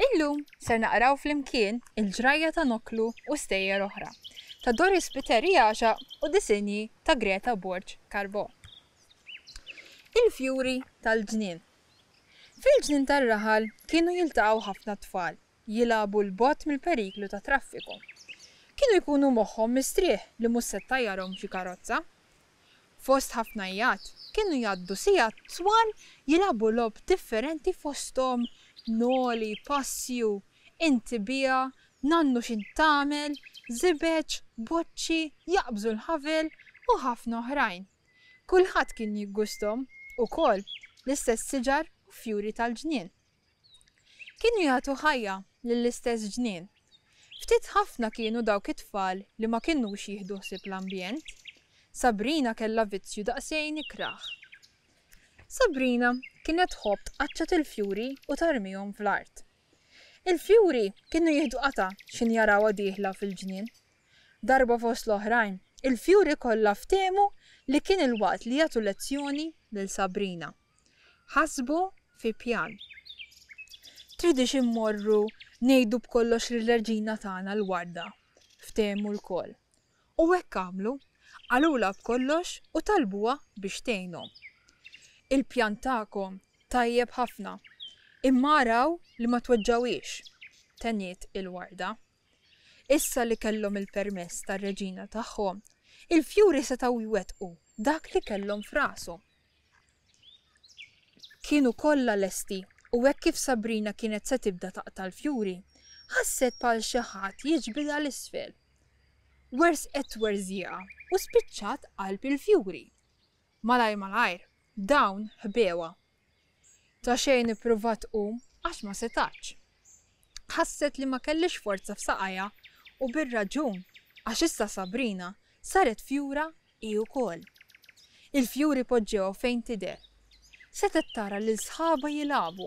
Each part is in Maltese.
Illum ser naqraw flimkien il-ġrajja ta' Noklu u stejjer oħra ta' Doris Spiteri Għaxaq u disinji ta' Greta Borg Carbò. Il-fjuri tal-ġnien. Fil-ġnien tar-raħal kienu jiltaqgħu ħafna tfal jilagħbu 'l bogħod mill-periklu tat-traffiku. Kienu jkunu moħħhom mistrieħ li mhux se ttajjarhom xi karozza. Fost ħafna għijat, kienu jgħaddu sigħat twal jilagħbu logħob differenti fosthom noli, passju, inti biha, nannu x'int tagħmel, żibeġ, boċċi, jaqbżu l-ħavel u ħafna oħrajn. Kulħadd kien jiggusthom, ukoll, l-istess siġar u fjuri tal-ġnien. Kienu jagħtu ħajja lill-istess ġnien. Ftit ħafna kienu dawk it-tfal li ma kinux jieħdu ħsieb l-ambjent. Sabrina kellha vizzju daqsxejn ikrah. Sabrina kienet tħobb tqaċċat il-fjuri u tarmihom fl-art. Il-fjuri kienu jieħdu qatgħa x'ħin jarawha dieħla fil-ġnien. Darba fost l-oħrajn, il-fjuri kollha ftehmu li kien il-waqt li jagħtu lezzjoni lil Sabrina. Ħasbu fi pjan. Tridix immorru ngħidu b'kollox lir-reġina tagħna l-warda, ftehmu lkoll. U hekk għamlu, qalulha b'kollox u talbuha biex tgħinhom. Il-pjan tagħkom tajjeb ħafna, imma araw li ma tweġġgħuhiex, tenniet il-warda. Issa li kellhom il-permess tar-reġina tagħhom, il-fjuri setgħu jwettqu dak li kellhom f'rashom. Kienu kollha lesti u hekk kif Sabrina kienet se tibda taqta' l-fjuri, ħasset bħal xi ħadd jiġbidha 'l isfel. Werżqet twerżieqa u spiċċat qalb il-fjuri. Malajr malajr, dawn ħbewha. Ta' xejn ippruvat tqum għax ma setgħetx. Ħasset li ma kellhiex forza f'saqajha u bir-raġun għax issa Sabrina saret fjura hi wkoll. Il-fjuri poġġewha fejn tidher. Setgħet tara lil sħabha jilagħbu.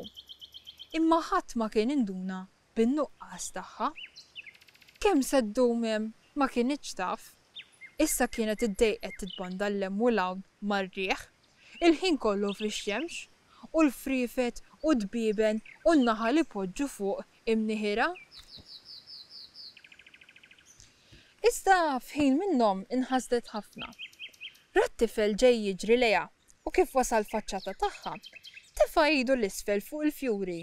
Imma ħadd ma kien induna bin-nuqqas tagħha. Kemm se ddum hemm ma kinitx taf. Issa kienet iddejqet titbanda 'l hemm u 'l hawn mar-riħ, il-ħin kollu fix-xemx, u l-friefet u d-dbieben u n-naħal ipoġġu fuq imniħirha. Iżda f'ħin minnhom inħasdet ħafna. Rat tifel ġej jiġri lejha u kif wasal faċċata tagħha, tefa' idu 'l isfel fuq il-fjuri.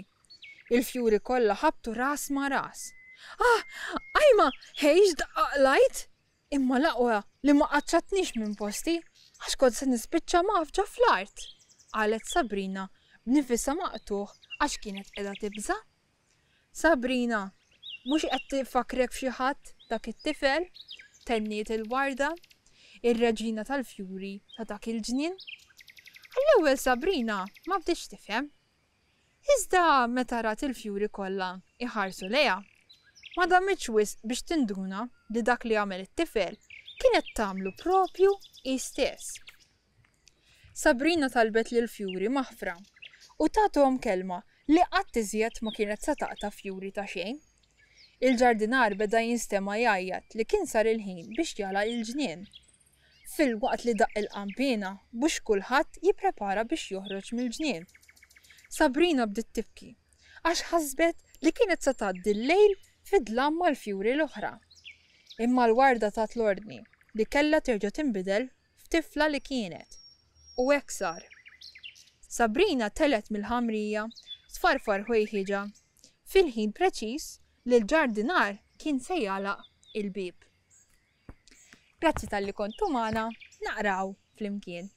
Il-fjuri kollha ħabtu ras ma' ras. Ah! Ajma! Ħej x'daqqa qlajt! Imma l-aqwa li ma qaċċatnix minn posti għax kont se nispiċċa mgħaffġa fl-art! qalet Sabrina b'nifisha maqtugħ għax kienet qiegħda tibża'. Sabrina, mhux qed ifakkrek f'xi ħadd dak it-tifel? tenniet il-warda, ir-reġina tal-fjuri ta' dak il-ġnien. Għall-ewwel Sabrina ma bdietx tifhem. Iżda meta rat il-fjuri kollha jħarsu lejha, ma damitx wisq biex tinduna li dak li għamel it-tifel kienet tagħmlu proprju hi stess. Sabrina talbet lill-fjuri maħfra u tathom kelma li qatt iżjed ma kienet se taqta' fjuri ta' xejn. Il-ġardinar beda jinstema' jgħajjat li kien sar il-ħin biex jagħlaq il-ġnien. Filwaqt li daqq il-qanpiena biex kulħadd jipprepara biex joħroġ mill-ġnien. Sabrina bdiet tibki għax ħasbet li kienet se tgħaddi l-lejl fid-dlam mal-fjuri l-oħra. Imma l-warda tat l-ordni li kellha terġa' tinbidel f'tifla li kienet. U hekk sar. Sabrina telgħet mill-ħamrija tfarfar ħwejħiġha fil-ħin preċiż li l-ġardinar kien se jagħlaq il-bieb. Grazzi talli kontu magħna naqraw flimkien.